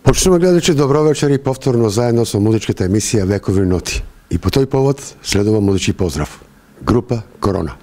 Почнуваме гледачи, добро вечер и повторно заедно со музичката емисија Векови ноти. И по тој повод следува музички поздрав. Група Корона.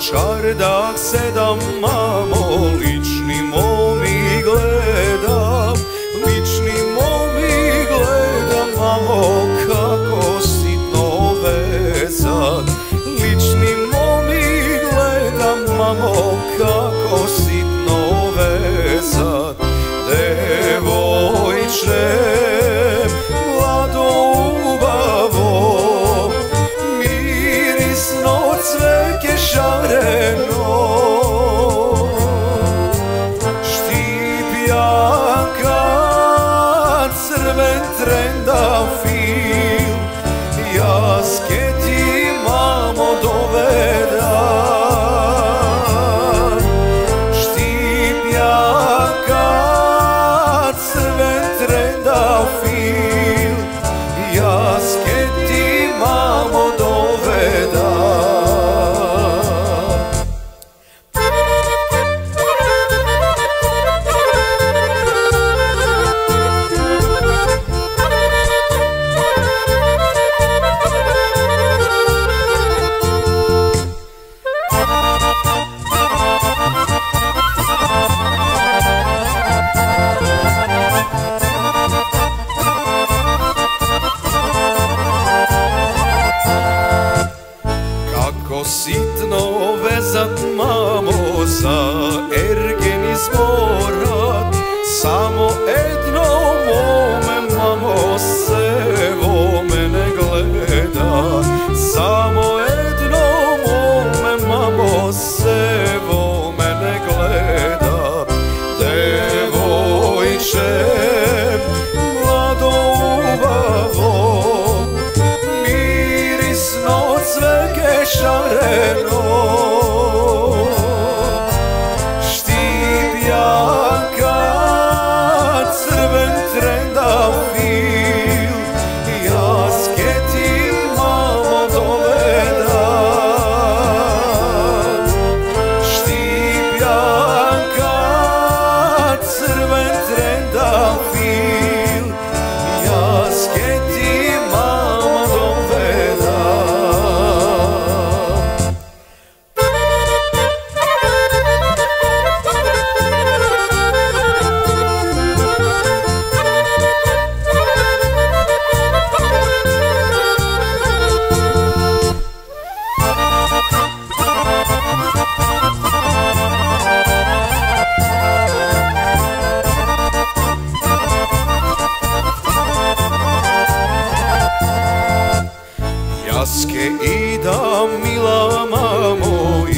Čardak sedam, mamo, lični momi gledam, lični momi gledam, mamo, kako sitno vezan. Lični momi gledam, mamo, kako sitno vezan. Devojče, mlado ubavo, mirisno cveke šareno, štipjanka, crven trendafil, jaske ti mamo dovedam. Štipjanka, crven trendafil, jaske ti mamo dovedam. Sitno vezat, mamo, za ergen izmorat, samo jedno mome, mamo, sevo mene gleda. Samo jedno mome, mamo, sevo mene gleda. Devojče, mlado ubavo, mirisno cveke šareno, štipjanka, crven trendafil, jaske ti mamo dovedam. Štipjanka, crven trendafil, jaske ti mamo dovedam. Jaske idam, mila mamo, i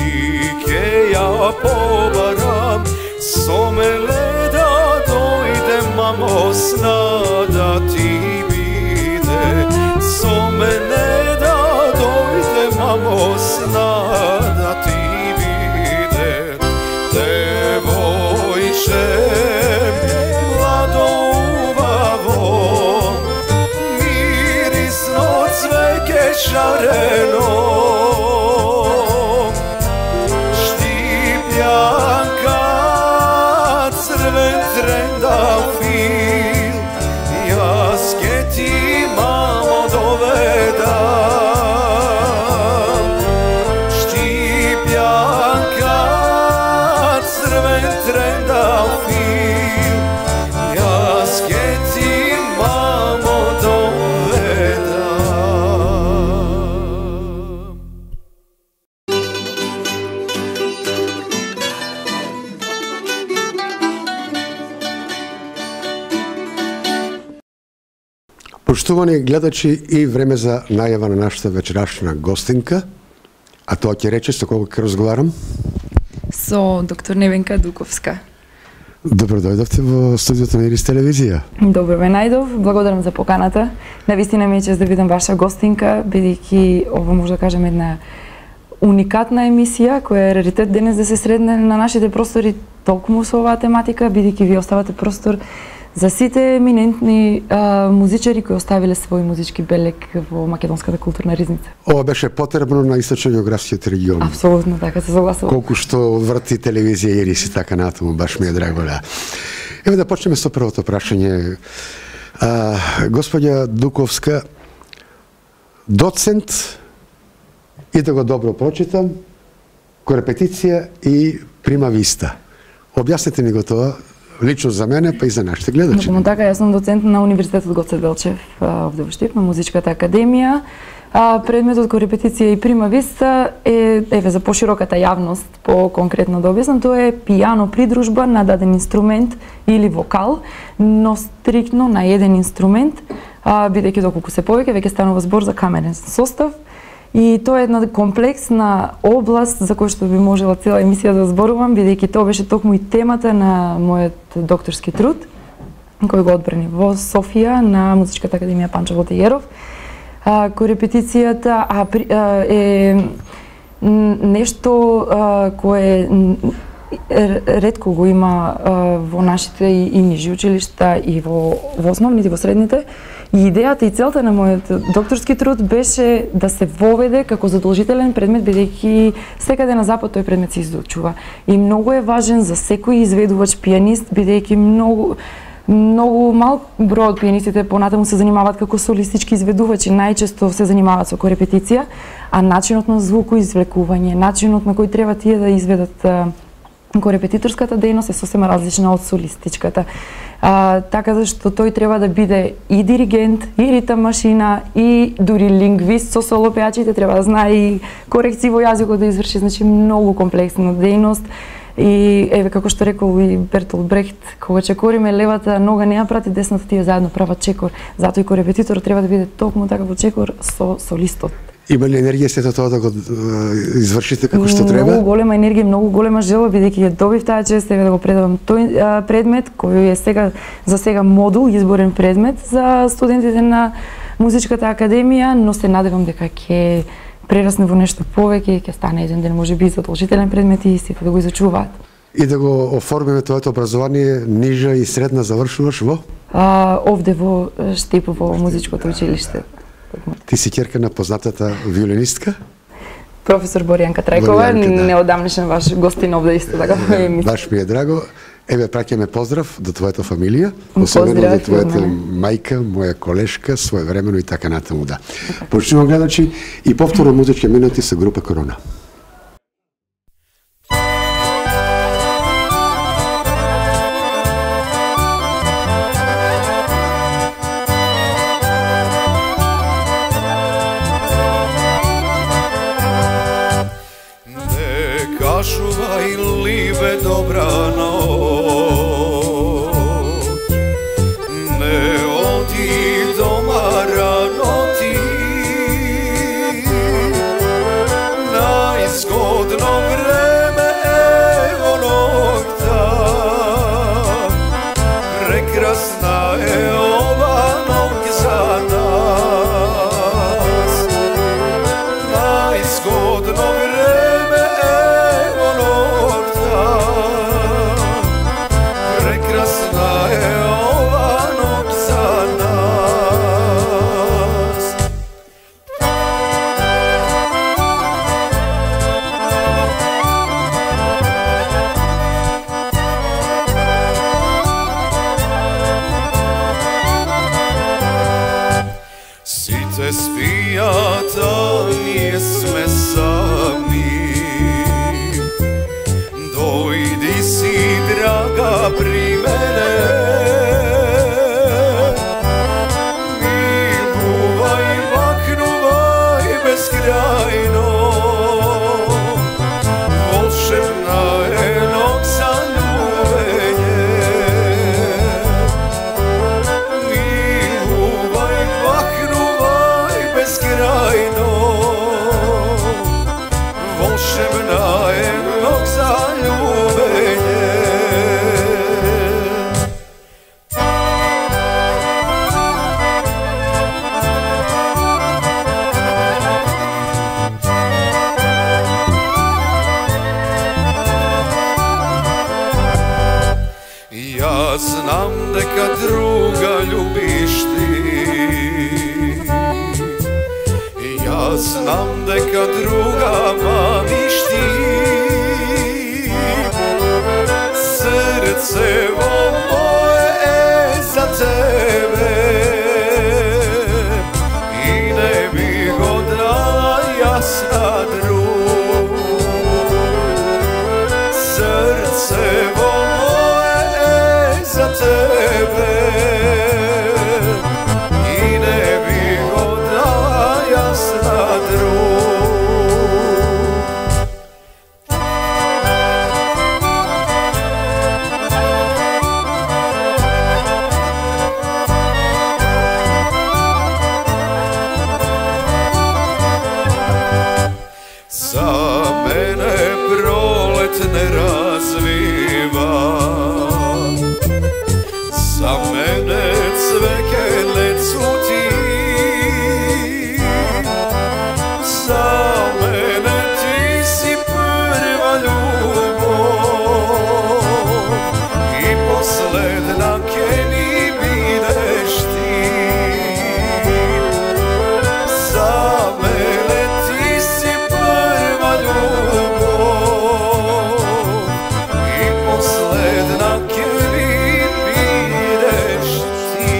ke ja pobaram, somele da dojde, mamo, sna da ti bide. Somele da dojde, mamo, sna da ti bide. Devojče, mlado ubavo, mirisno cveke šareno, štipjanka, crven trendafil, jaske ti mamo dovedam. Štipjanka, crven trendafil, jaske ti mamo dovedam. Поштувани гледачи, и време за најава на нашата вечерашна гостинка, а тоа ќе рече со кого ќе разговарам? Со доктор Невенка Дуковска. Добро дојдовте во студиото на Ирис телевизија. Добро ве најдов, благодарам за поканата. Навистина ми е чест да бидам ваша гостинка, бидејќи ова може да кажем една уникатна емисија која е раритет денес да се средне на нашите простори толкому со оваа тематика, бидејќи ви оставате простор за сите еминентни музичари кои оставиле свој музички белег во македонската културна ризница. Ова беше потребно на источно-географскиот регион. Апсолутно така, се согласувам. Колку што врти телевизија Ирис и така натаму, баш ми е драго, да. Еве да почнеме со првото прашање. Господја Дуковска, доцент, и да го добро прочитам, корепетиција и прима виста. Објаснете ми го тоа, лично за мене, па и за нашите гледачи. Многу така, јас сум доцент на Универзитетот Гоце Делчев овде во Штип, на Музичката академија. Предметот корепетиција и прима виста е, еве, за пошироката јавност, по-конкретно да објаснам, тоа е пијано придружба на даден инструмент или вокал, но стриктно на еден инструмент, бидејќи доколку се повеќе, веќе станува збор за камерен состав. И тоа е една комплексна област за која што би можела цела емисија да зборувам, бидејќи тоа беше токму и темата на мојот докторски труд, кој го одбрани во Софија на Музичката академија Панчо Владиеров. Корепетицијата е нешто кое ретко го има во нашите и нижи училишта и во основните, во средните. И идејата и целта на мојот докторски труд беше да се воведе како задолжителен предмет, бидејќи секаде на запад тој предмет се изучува. И многу е важен за секој изведувач пијанист, бидејќи многу мал број од пијанистите понатаму се занимаваат како солистички изведувачи, најчесто се занимаваат со корепетиција, а начинот на звукоизвлекување, начинот на кој треба тие да изведат корепетиторската дејност е сосема различна од солистичката. Така зашто тој треба да биде и диригент, и ритам машина, и дури лингвист со солопеачите, треба да знае и корекции во јазикот да изврши, значи многу комплексна дејност. И еве како што рекол и Бертолд Брехт, кога чекориме левата нога не ја прати десната, тие заедно прават чекор. Затоа и корепетиторот треба да биде токму така во чекор со солистот. Има ли енергија сето тоа да го извршите како што треба? Многу голема енергија, многу голема желба, бидејќи ја добив таа чест да го предавам тој предмет кој е за сега модул, изборен предмет за студентите на Музичката академија, но се надевам дека ќе прерасне во нешто повеќе и ќе стане еден ден можеби задолжителен предмет и сите да го изучуваат. И да го оформиме твоето образование, нижа и средна завршуваш во? Овде во Штип, во музичкото училиште. Ти си ќерка на познатата виолинистка? Професор Боријанка Трајкова, неодамнешен ваш гостин овде исто така во емисија. Баш ми е драго. Еве, праќаме поздрав до твојата фамилија, особено до твојата мајка, моја колешка, своевремено и така натаму, да. Почнувам гледачи и повторно музички минути со група Корона. Кажувај либе добра ноќ, не оди дома рано ти, најзгодно време ево ноќта, прекрасна е ова ноќ за нас, најзгодно време ево ноќта, прекрасна е ова ноќ за нас. Сите спијат, а ние сме сами. Дојди си, драга, при мене. Милувај, махнувај безкрајно. Волшебна е ноќ за љубење. Милувај, махнувај безкрајно. ga ljubiš ti. Ja znam deka druga maniš ti. Srce moje za tebe i ne bih odala jasna drug. Srce moje za tebe i ne bih odala jasna drug. Za mene prolet ne razviva, za mene cveke ne cvuti, za mene ti si prva ljubav i posledna ke mi bideš ti. Za mene ti si prva ljubav i posledna ke mi bideš ti.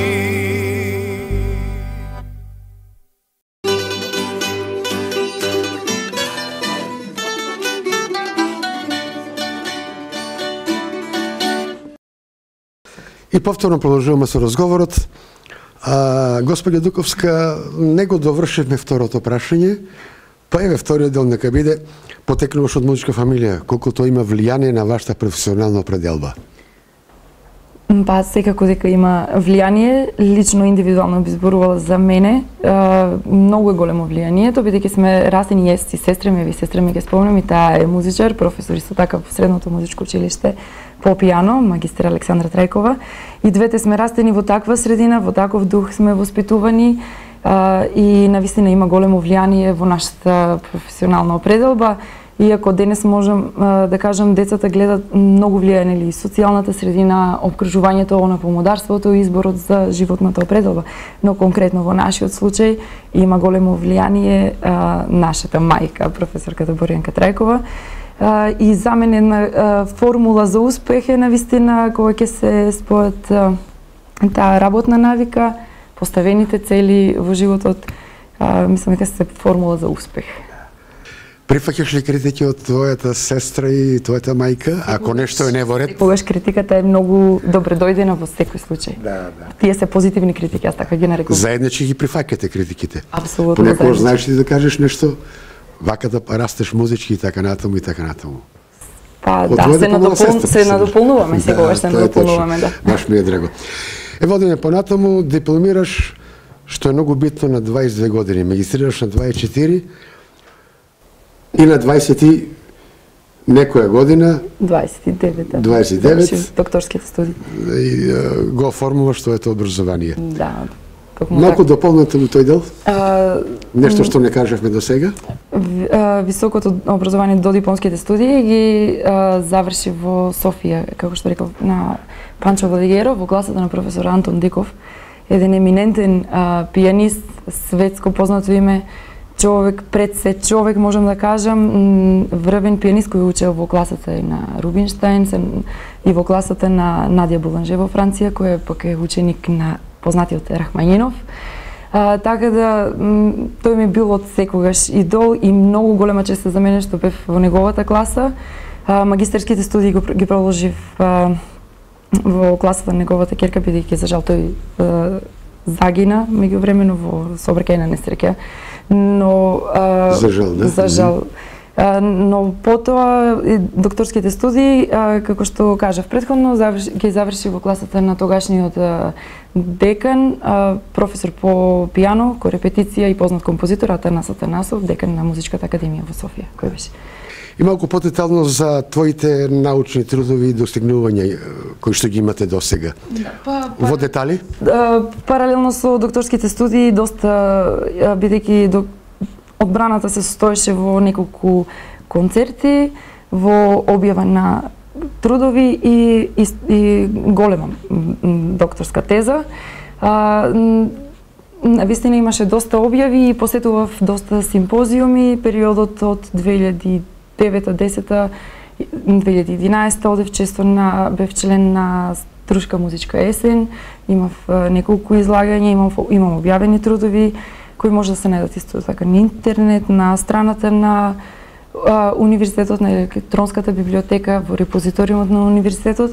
И повторно продолжуваме со разговорот. Господја Дуковска, не го довршивме второто прашање, па еве вториот дел нека биде: потекнуваш од музичка фамилија, колку тоа има влијание на вашата професионална определба? Па секако дека има влијание, лично индивидуално би зборувала за мене, многу е големо влијанието, бидејќи сме растени јас и сестра ми, сестра ми ќе спомнам, и таа е музичар, професор исто така во средното музичко училиште по пијано, магистер Александра Трајкова. И двете сме растени во таква средина, во таков дух сме воспитувани и навистина има големо влијание во нашата професионална определба. Иако денес можам да кажам, децата гледат многу влијање или социјалната средина, обкружувањето на помодарството и изборот за животната определба. Но конкретно во нашиот случај има големо влијание нашата мајка, професорката Борјанка Трајкова. И за мене една формула за успех е навистина кога ќе се спојат таа работна навика, поставените цели во животот, мислам дека се формула за успех. Прифаќаш ли критики од твојата сестра и твојата мајка, ако нешто е не во ред? Секогаш критиката е многу добре дојдена во секој случај. Да. Тие се позитивни критики, јас така ги нарекувам. Заеднички ги прифаќате критиките. Апсолутно. Понекогаш знаеш ти да кажеш нешто, вака да растеш музички и така натаму и така натаму. Па да, се надополнуваме, секогаш се надополнуваме, да. Баш ми е драго. Водиме понатаму, дипломираш, што е многу битно, на 22 години, магистрираш на 24 и на 20 некоја година 29 докторските студии и го оформуваш твоето образование. Да. Малку дополнете му тој дел? Нешто што не кажавме до сега? Високото образование до дипломските студии ги заврши во Софија, како што реков, на Панчо Владигеро, во гласата на професор Антон Диков, еден еминентен пијанист, светско познато име, човек пред се човек, можам да кажам, врвен пијанист кој учел во класата и на Рубинштайн и во класата на Надја Буланже во Франција, кој пак е ученик на познатиот Рахманинов. Така да, тој ми бил од секогаш идол и многу голема чест за мене што бев во неговата класа. Магистерските студии ги продолжив во класата на неговата ќерка, бидејќи за жал тој загина меѓувремено во сообраќајна несреќа. Но за жал, да? За жал. Но потоа докторските студии, како што кажав претходно, ги заврши во класата на тогашниот декан, професор по пијано, корепетиција и познат композитор Атанас Атанасов, декан на Музичката академија во Софија, кој беше. И малку потетално за твоите научни трудови и достигнувања кои што ги имате досега. Во детали? Паралелно со докторските студии, доста, бидејќи одбраната се состоеше во неколку концерти, во објава на трудови и голема докторска теза. Навистина имаше доста објави и посетував доста симпозиуми. Периодот од 2009-10 2011 одев често бев член на Струшка музичка есен, имав неколку излагања, имам објавени трудови кои може да се најдат исто така на интернет, на страната на универзитетот, на електронската библиотека, во репозиториумот на универзитетот.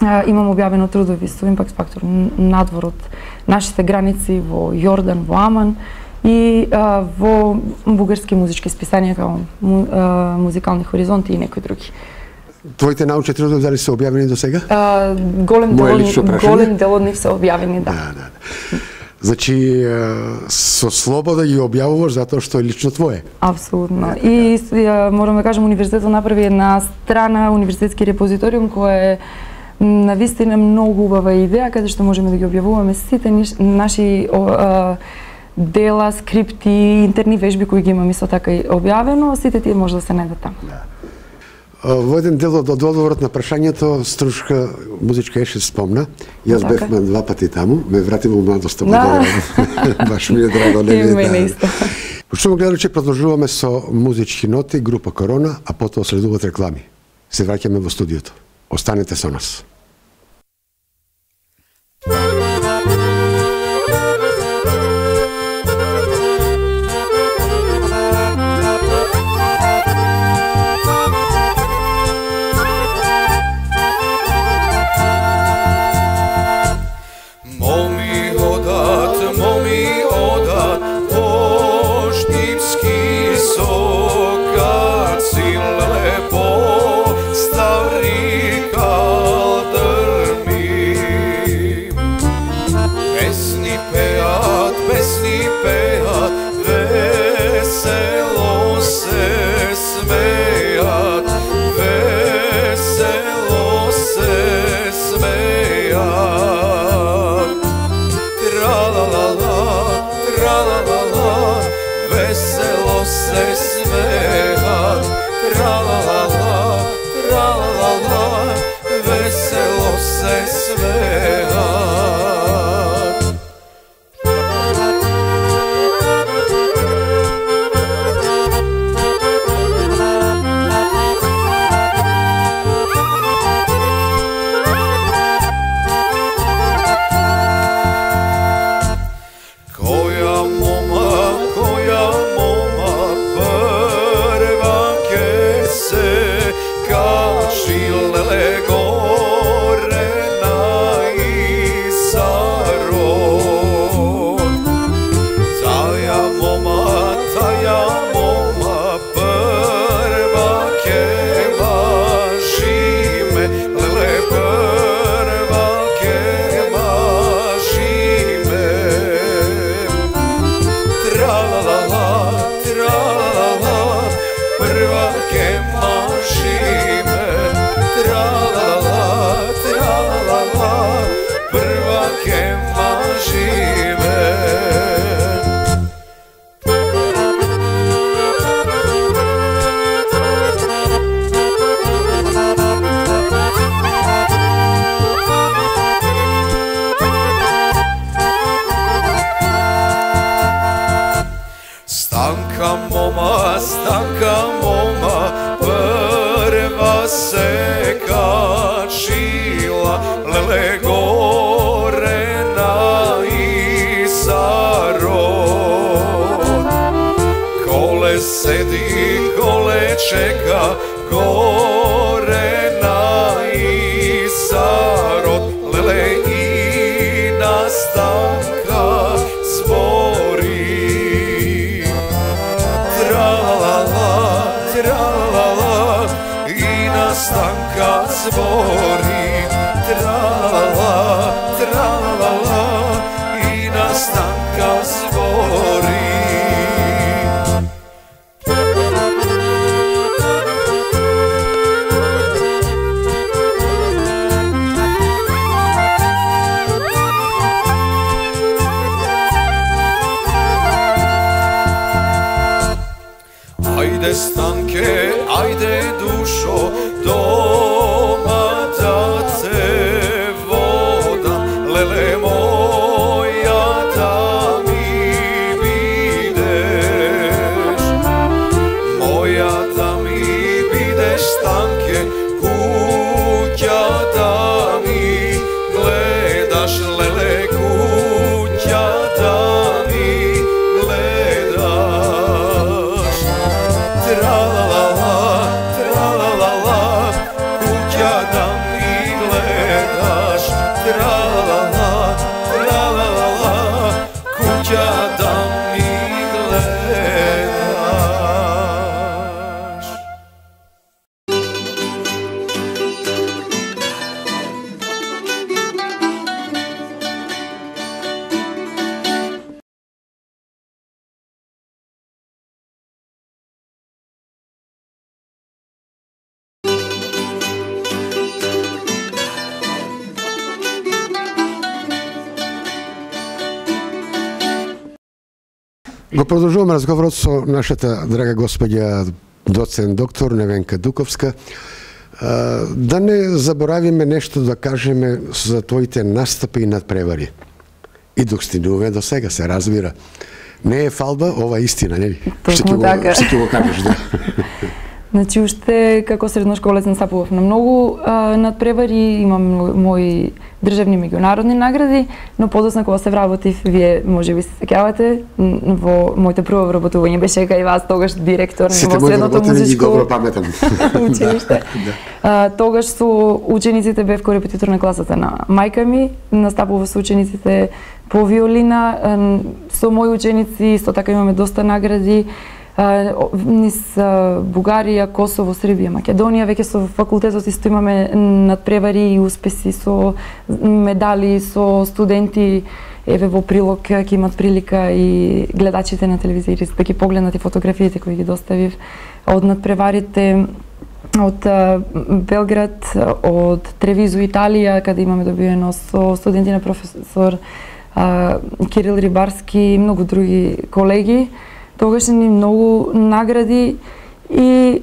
Имам објавено трудови со импакт фактор надвор од нашите граници во Јордан, во Аман и во бугарски музички списанија како Музикални хоризонти и некои други. Твоите научни трудови дали се објавени до сега? Голем дел од нив се објавени, да. Значи, со слобода ги објавуваш затоа што е лично твое. Апсолутно. И морам да кажам, универзитетот направи една страна, универзитетски репозиториум, која е навистина многу убава идеја, каде што можеме да ги објавуваме сите наши дела, скрипти, интерни вежби кои ги имаме исто така и објавено, сите тие може да се најдат таму. Во еден дел од одговорот на прашањето, Струшка музичка есен спомна. Јас бевме 2 пати таму, ме врати во младоста. Баш ми е драго, не ми е да. Почнуваме гледачи, продолжуваме со музички ноти, група Корона, а потоа следуваат реклами. Се враќаме во студиото. Останете со нас. Ajde stanke, ajde dušo, do Го продолжуваме разговорот со нашата драга господја доцент доктор Невенка Дуковска. Да не заборавиме нешто да кажеме за твоите настапи и надпревари. И достигнуваме до сега, се разбира. Не е фалба, ова е истина, нели? Точно така. Што ќе го кажеш, да. Значи, уште како средношколец настапував на многу надпревари, имам мои државни меѓународни награди, но подосна кога се вработив, вие можеби се сеќавате, во моите прво вработување беше кај вас, тогаш директор во средното музичко добро паметам училиште. Тогаш со учениците бев корепетитор на класата на мајка ми, настапував со учениците по виолина, со мои ученици исто така имаме доста награди. Низ Бугарија, Косово, Србија, Македонија, веќе со факултетот исто имаме надпревари и успеси со медали, со студенти. Еве во прилог ќе имат прилика и гледачите на телевизија да ги погледнат и фотографиите кои ги доставив од надпреварите од Белград, од Тревизо, Италија, каде имаме добиено со студенти на професор Кирил Рибарски и многу други колеги. Тогаш ни многу награди и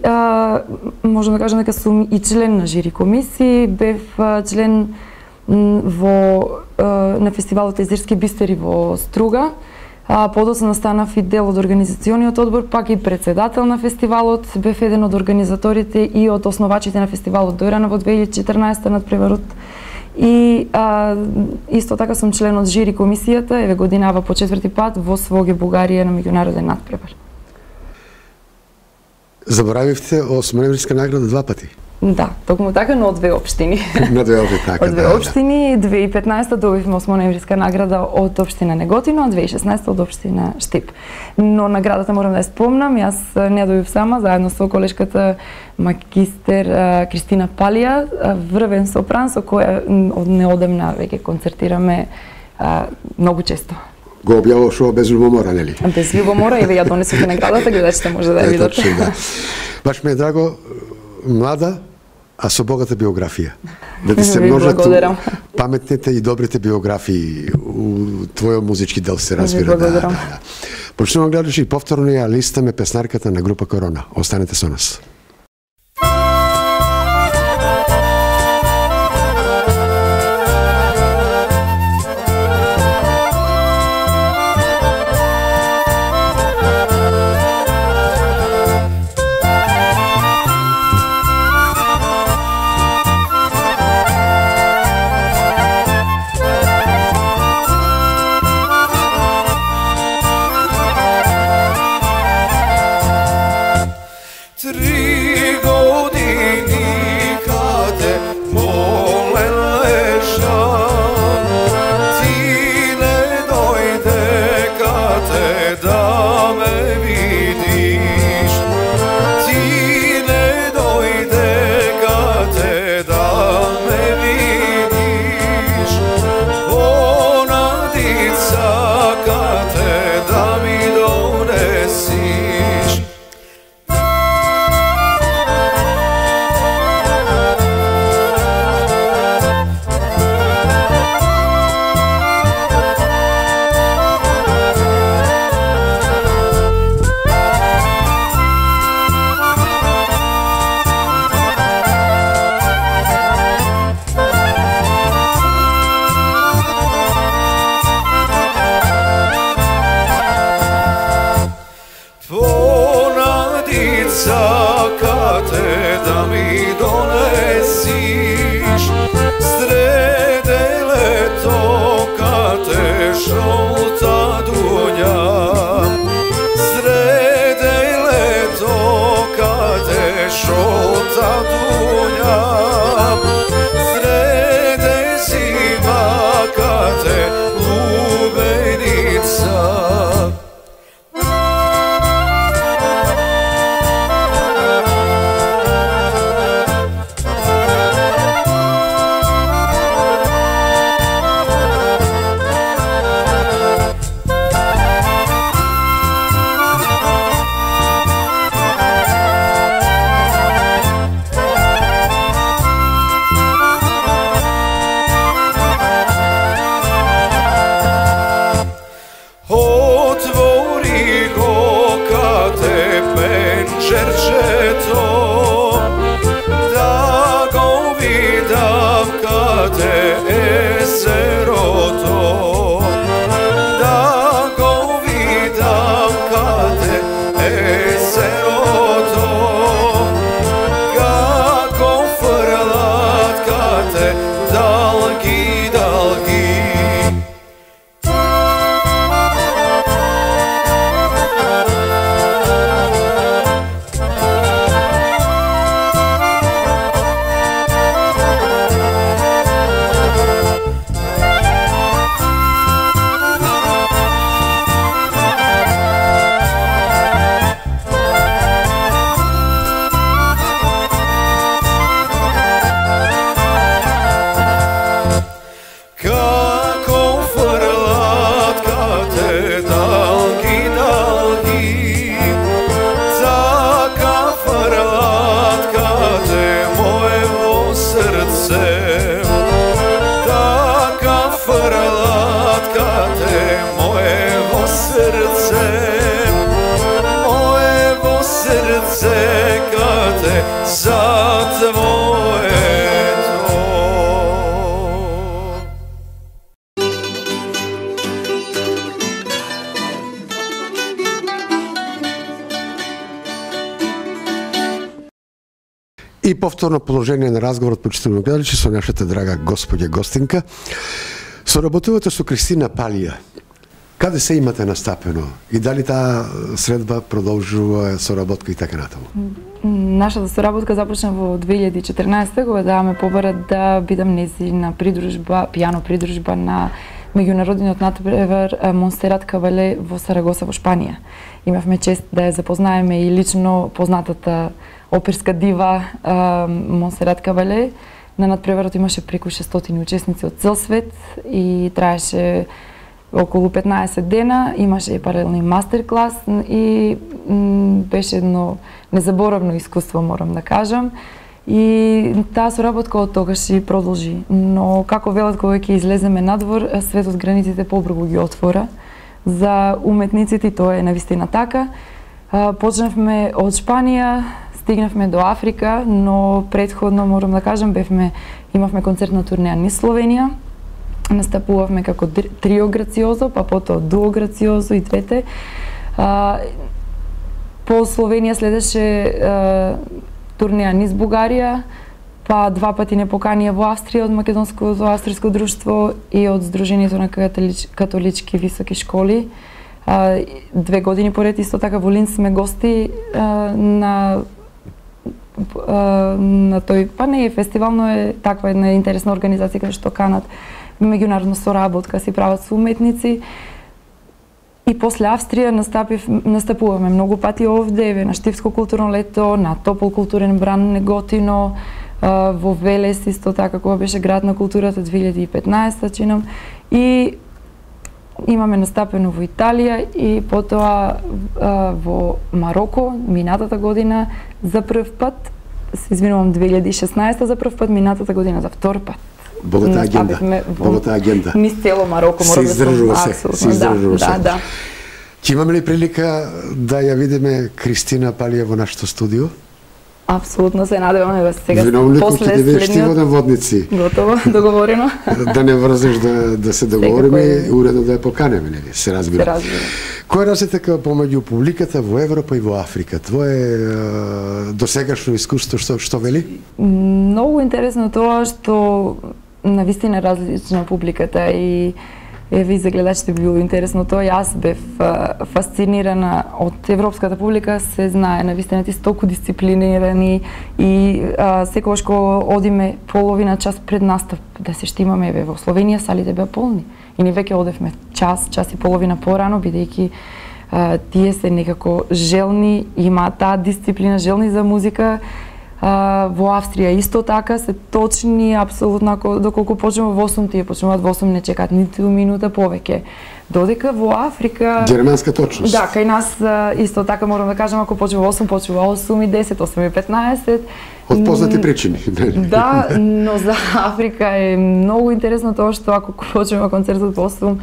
можам да кажам дека сум и член на жири комисии, бев член на фестивалот Езерски бистери во Струга. Подоцна станав и дел од организациониот одбор, пак и председател на фестивалот, бев еден од организаторите и од основачите на фестивалот Дојрана во 2014 надпреварот. И исто така сум член од жири комисијата, еве годинава по 4-ти пат во Своге, Бугарија на меѓународен надпревар. Заборавивте осмоноемврска награда 2 пати. Да, токму така, но од 2 општини. На 2 општини, така, од 2 општини, 2015 добивме осмоноемвриска награда од општина Неготино, а 2016 од општина Штип. Но наградата морам да ја спомнам, јас не ја добив сама, заедно со колешката магистер Кристина Палија, врвен сопран со која од неодамна веќе концертираме многу често. Го објавуваш ова без љубомора, нели? Без љубомора, еве ја донесов наградата, гледачите може да ја видат. Точно, да. Баш ми е драго, млада, а со богата биографија. Да ти се множат паметните и добрите биографии у твојот музички дел, се разбира. Да. Почнувам гледачи и повторно ја листаме песнарката на група Корона. Останете со нас. Tri И повторно положение на разговорот, почитувани гледачи, со нашата драга господја гостинка. Соработувате со Кристина Палија. Каде се имате настапено? И дали таа средба продолжува соработка и така натаму? Нашата соработка започна во 2014 кога ме побара да бидам нејзина придружба, пијано придружба на меѓународниот натпревар Монсерат Кабале во Сарагоса во Шпанија. Имавме чест да ја запознаеме и лично познатата оперска дива Монсерат Кабале. На натпреварот имаше преку 600 учесници од цел свет и траеше околу 15 дена, имаше и паралелни мастер-клас и беше едно незаборавно искуство, морам да кажам. И таа соработка од тогаш и продолжи. Но како велат кога ќе излеземе надвор, светот границите побрзо ги отвора за уметниците и тоа е навистина така. Почнавме од Шпанија, стигнавме до Африка, но претходно морам да кажам имавме концертна турнеја низ Словенија. Настапувавме како трио грациозо, па потоа дуо грациозо и двете. По Словенија следеше турнеја низ Бугарија, па два пати не поканија во Австрија од Македонското австриско друштво и од Сдруженијето на католички високи школи. 2 години поред исто така во Линц сме гости на тој, па не е фестивал, но е таква една интересна организација каде што канат меѓународна соработка, си прават со уметници. И после Австрија настапуваме многу пати овде, на Штипско културно лето, на Топол културен бран Неготино, во Велес исто така кога беше град на културата 2015 чинам. И имаме настапено во Италија и потоа во Мароко минатата година за прв пат, се извинувам 2016 за прв пат, минатата година за втор пат. Богата агенда. Низ цело Мароко, мора да се издржува се. Да. Ќе имаме ли прилика да ја видиме Кристина Палија во нашето студио? Апсолутно се надеваме сега. Виновникот ќе да вешти водници. Готово, договорено. Да не врзеш да се договориме и уредно да ја поканеме, нели? Се разбира. Се разбира. Кој е разлика помеѓу публиката во Европа и во Африка? Твое досегашно искуство што вели? Многу интересно тоа што навистина различна публиката и еви за гледачите било интересно тоа. Јас бев фасцинирана од европската публика, се знае навистина ти толку дисциплинирани и секогаш кога одиме половина час пред настап да се штимаме, еве во Словенија салите беа полни. И ни веќе одевме час и половина порано, бидејќи тие се некако желни, имаат таа дисциплина, желни за музика. Во Австрија исто така се точни, апсолутно, доколку почнува во 8, тие почнуваат во 8, не чекаат ниту минута повеќе. Додека во Африка... Германска точност. Да, кај нас исто така морам да кажам, ако почнува во 8, почнува 8:10, 8:15. Од познати причини. Да, но за Африка е многу интересно тоа што ако почнува концертот во 8,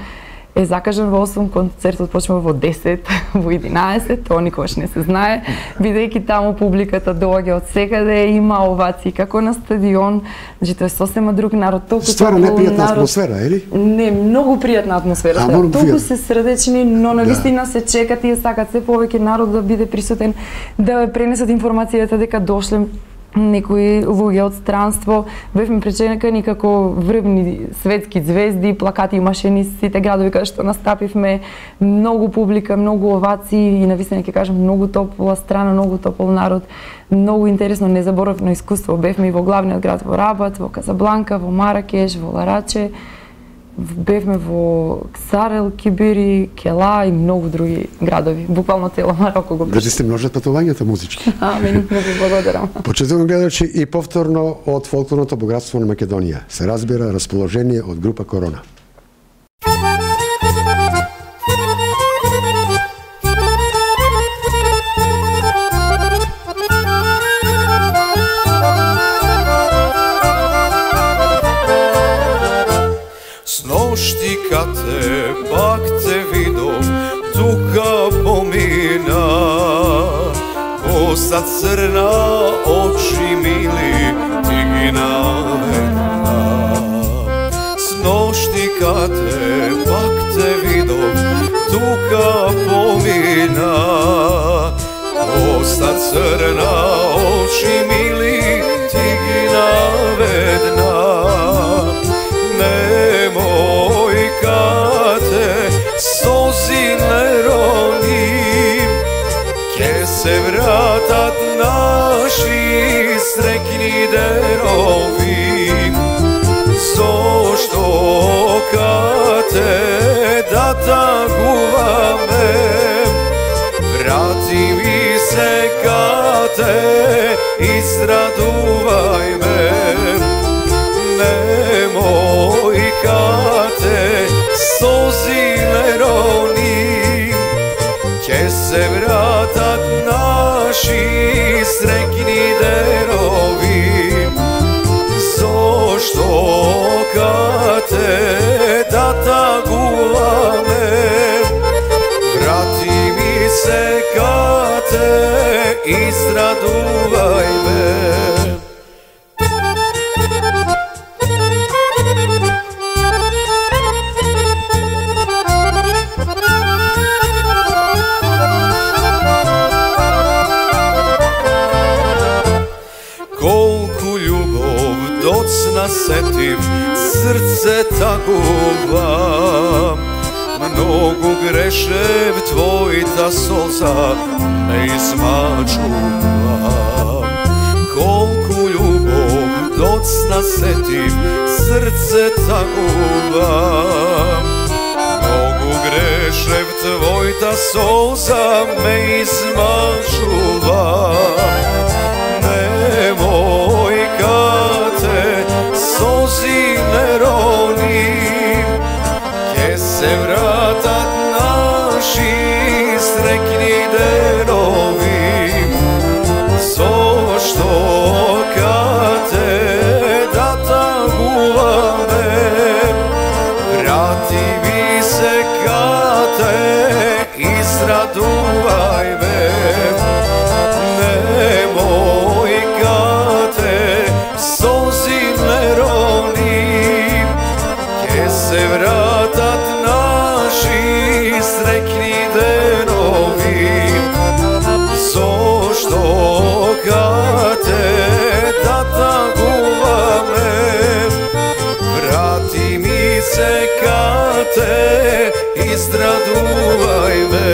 е закажан во 8, концертот почнува во 10, во 11, тоа никогаш не се знае, бидејќи таму публиката доаѓа од секаде, има овации како на стадион, значи тоа е сосема друг народ, толку ствара непријатна атмосфера, ели? Не, многу пријатна атмосфера. Толку се срдечни, но навистина се чекат и сакат се повеќе народ да биде присутен, да пренесат информацијата дека дошле некои луѓе од странство, бевме пречекани како врвни светски звезди, плакати имаше низ сите градови каде што настапивме, многу публика, многу овации и навистина ќе кажам многу топла страна, многу топол народ, многу интересно, незаборавно искуство. Бевме и во главниот град во Рабат, во Казабланка, во Маракеш, во Лараче, бевме во Ксарел, Кибири, Кела и многу други градови. Буквално цело Мароко го беше. Дали сте множат патувањата музички? Амин, многу благодарам. Почитувани гледачи, и повторно од фолклорното богатство на Македонија се разбира расположение од група Корона. Kad te pak te vidom, tuga pomina, kosa crna, oči mili, tiginavena. Snošti kad te pak te vidom, tuga pomina, kosa crna, oči mili, се вратат наши срекни денови, зошто кате да тагуваме, врати ми се кате, израдувај ме, немој кате, сози не рони, ќе се вратат наши срекни денови, зошто кате да тагуваме, врати ми се кате, израдувај ме. Колку љубов доцна сетив, срце тагува, многу грешев, твојата солза ме измачува. Колку љубов доцна сетив, срце тагува, многу грешев, твојата солза ме измачува. Немој кате, сози не рони, ќе се вратат наши срекни денови, зошто кате да тагуваме, врати ми се кате, израдувај ме, немој кате, сози не рони, ќе се вратат наши срекни денови, зошто кате да тагуваме, врати ми се кате, израдувај ме.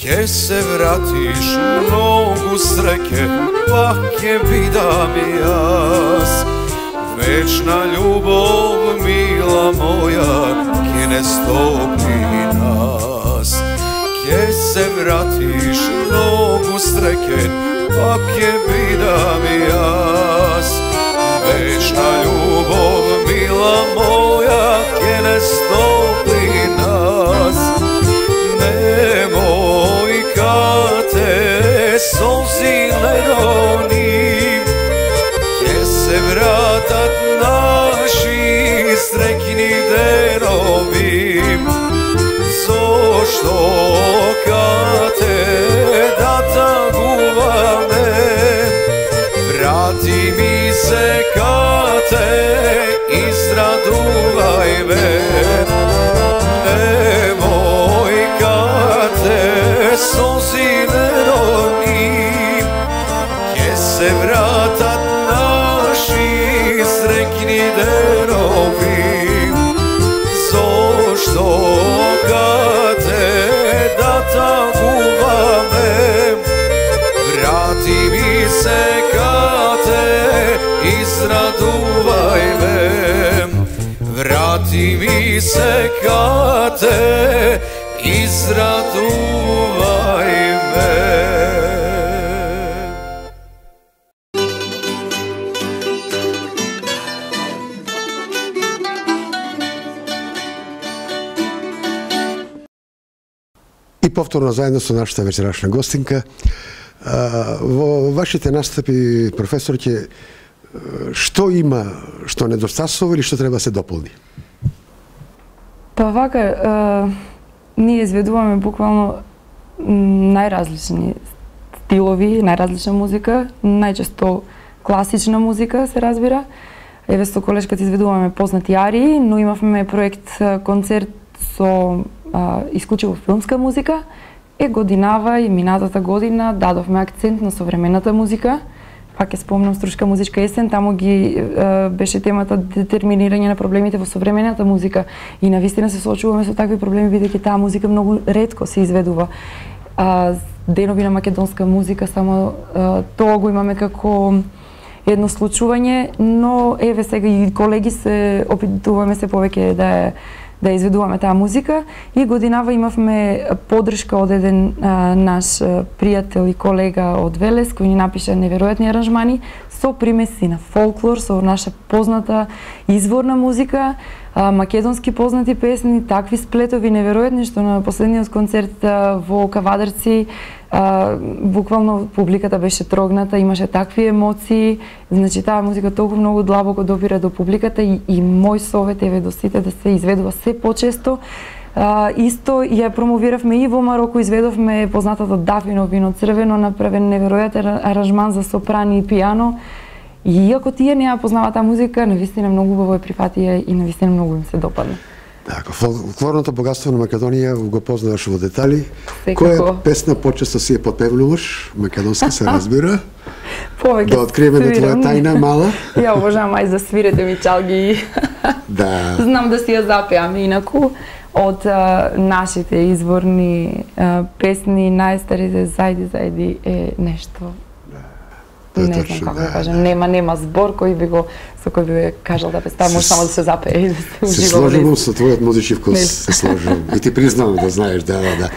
Ќе се вратиш, многу среќе, пак ќе бидам јас. Вечна љубов, мила моја, ќе не стопи нас. Ќе се вратиш, многу среќе, пак ќе бидам јас. Вечна љубов, мила моја, ќе не стопи нас. Немој кате, солзи не рони, ќе се вратат наши срекни денови, зошто кате да тагуваме, врати ми се кате, израдувај ме. Сози не рони, ќе се вратат наши срекни денови, зошто кате да тагуваме, врати ми се кате, израдувај ме, врати ми се кате, израдувај ме. И повторно заедно со нашата вечерашна гостинка. Во вашите настапи, професорке, што има, што недостасува или што треба да се дополни? Па вака, ние изведуваме буквално најразлични стилови, најразлична музика, најчесто класична музика се разбира. Еве со колешката изведуваме познати арии, но имавме проект концерт со исклучиво филмска музика Годинава и минатата година дадовме акцент на современата музика. Пак ќе спомнам Струшка музичка есен, таму ги беше темата детерминирање на проблемите во современата музика и навистина се соочуваме со такви проблеми бидејќи таа музика многу ретко се изведува. Денови на македонска музика, само тоа го имаме како едно случување, но еве сега и колеги се опитуваме се повеќе да изведуваме таа музика и годинава имавме поддршка од еден наш пријател и колега од Велес кој ни напиша неверојатни аранжмани со примеси на фолклор, со наша позната изворна музика, македонски познати песни, такви сплетови неверојатни што на последниот концерт во Кавадарци буквално публиката беше трогната, имаше такви емоции, значи таа музика толку многу длабоко допира до публиката и мој совет еве до сите да се изведува се почесто. Исто ја промовиравме и во Мароко, изведовме познатото Дафино вино црвено, направен неверојатен аранжман за сопрани и пијано. И иако тие не ја познаваат таа музика, навистина многу убаво ја прифатија и навистина многу им се допадна. Така, фолклорното богатство на Македонија го познаваш во детали. Секако. Која песна почесто си ја потпевнуваш? Македонска се разбира. Повеќе да откриеме да твоја тајна мала. Ја обожавам ај за свирете ми чалги. Да. Знам да си ја запеам, инаку од нашите изворни песни, најстарите зајди е нешто. Не знам како да кажам, нема збор со кој би кажал да песта, може само да се запее и да се ужива. Се сложувам со твојот музички вкус, се сложувам. И ти признавам да знаеш, да.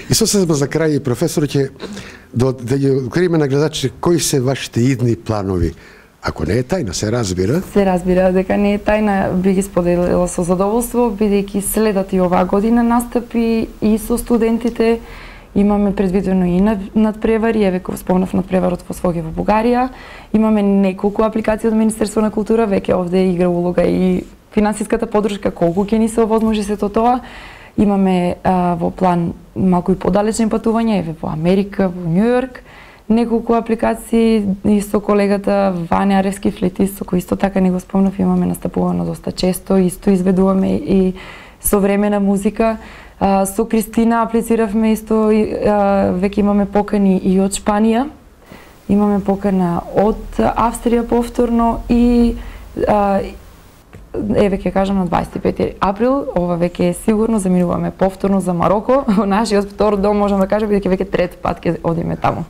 И сосема за крај, професор, ќе да ги откриеме на гледачите кои се вашите идни планови. Ако не е тајна, се разбира. Се разбира, дека не е тајна, би ги споделила со задоволство, бидејќи следат и оваа година настапи и со студентите. Имаме предвидено и надпревари, еве кој спомнав надпреварот во Своге во Бугарија. Имаме неколку апликации од Министерство на култура, веќе овде игра улога и финансиската поддршка, колку ќе ни се овозможи сето тоа. Имаме во план малку и подалечни патувања, еве во Америка, во Њујорк, неколку апликации и со колегата Ваня Аревски флетист, со кој исто така не го спомнав, имаме настапувано доста често, исто изведуваме и современа музика. Со Кристина аплициравме исто, веќе имаме покани и од Шпанија, имаме покана од Австрија повторно и еве ќе кажам на 25 април, ова веќе е сигурно, заминуваме повторно за Мароко, во нашиот втор дом можам да кажам, бидејќи веќе трет пат ќе одиме таму.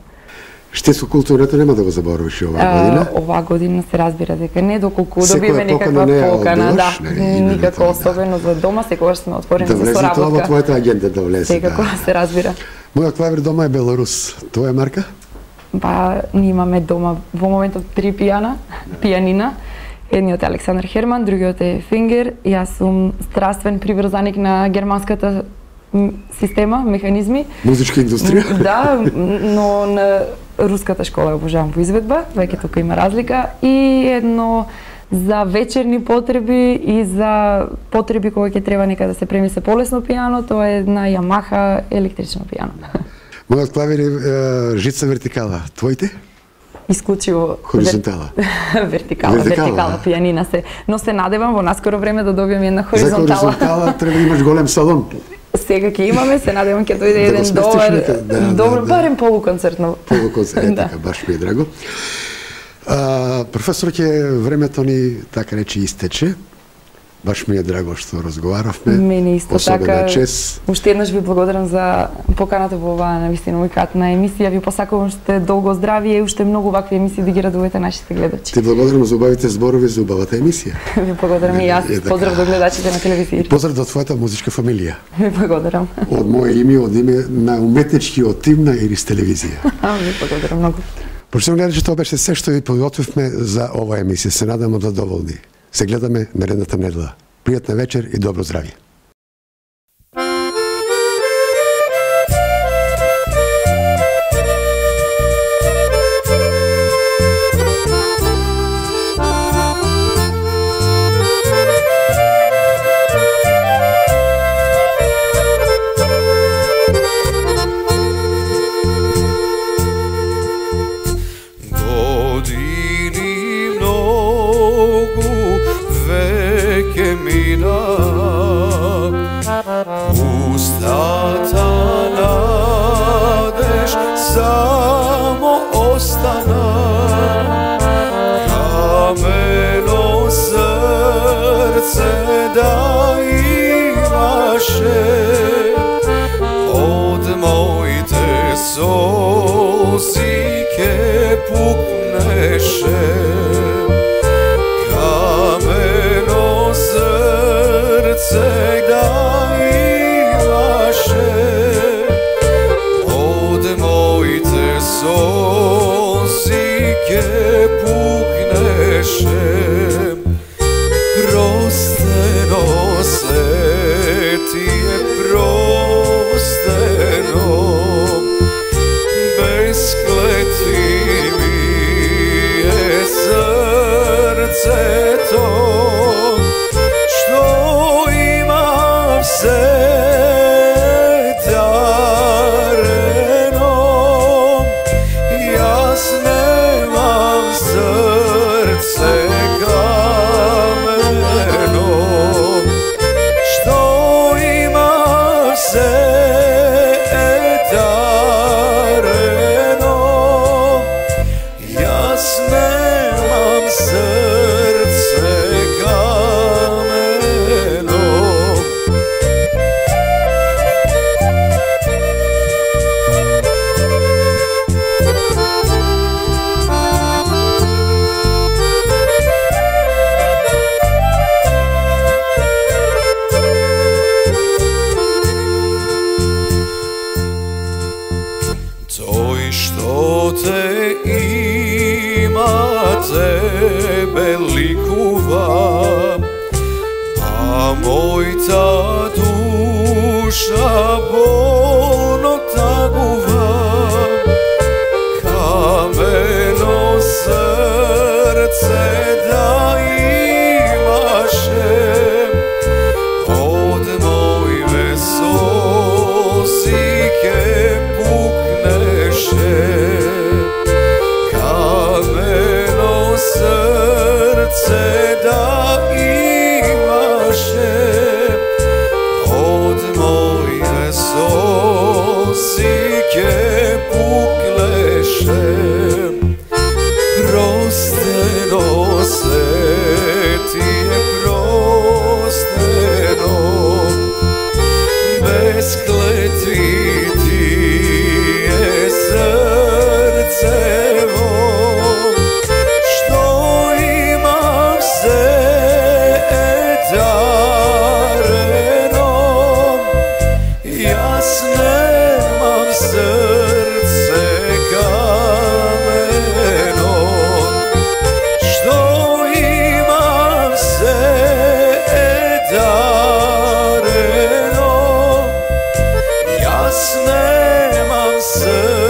Штетско културата нема да го заборавиш оваа година? Оваа година се разбира дека не, доколку добиеме некаква покана, да, никако особено за дома, секогаш сме отворени за соработка. Да влезе тоа во твојата агенда, да влезе. Секако се разбира. Мојот клавир дома е Беларус. Тоа е марка? Па, ние имаме дома во моментот 3 пијанина. Едниот е Александар Херман, другиот е Фингер. Јас сум страствен приврзаник на германската система, механизми. Музичка индустрија? Да, но на руската школа обожавам во изведба, веќе тука има разлика. И едно за вечерни потреби и за потреби кога ќе треба нека да се премисе полесно пијано, тоа е една Ямаха електрично пијано. Мојот клавир е жица вертикала. Твоите? Исклучиво хоризонтала. Вертикала пијанина се, но се надевам во наскоро време да добијам една хоризонтала. За хоризонтала треба да имаш голем салон. Сега ќе имаме, се надевам ќе дојде еден добар, барем полуконцертно. Полуконцерт, така, баш ми е драго. Професор, ќе времето ни, така речи, истече. Баш ми е драго што разговаравме. Мене исто така. Чест. Уште еднаш ви благодарам за поканата во оваа навистина уникатна емисија. Ви посакувам уште долго здравие и уште многу вакви емисии да ги радувате нашите гледачи. Ти благодарам за убавите зборови за убавата емисија. Ви благодарам и јас. Поздрав до гледачите на телевизија. Поздрав до твојата музичка фамилија. Ви благодарам. Од моје име, од име на уметничкиот тим на Ирис телевизија. Ви благодарам многу. Почитувани гледачи, тоа беше се што ви подготвивме за оваа емисија. Се надам задоволни. Се гледаме наредната недела. Пријатна вечер и добро здравје. Устата на pukneše, kameno srce da imaše, od mojte sosike pukneše, prosteno se ti je prosteno, bez kletvi mi je srce to, što imam se dareno, jas nemam srce kameno, što imam se dareno, jas nemam srce kameno. Toj što te ima tebe likuva, a moj ta duša bolno taguva, kameno srce da imaše, od moje sosike pukneše, kameno srce da imaše, od moje sosike pukneše, prosteno se ti je prosteno, bez kletvi ti je srcevo, što imam se dareno, jas nemam srce kameno, što imam se dareno, jas nemam srce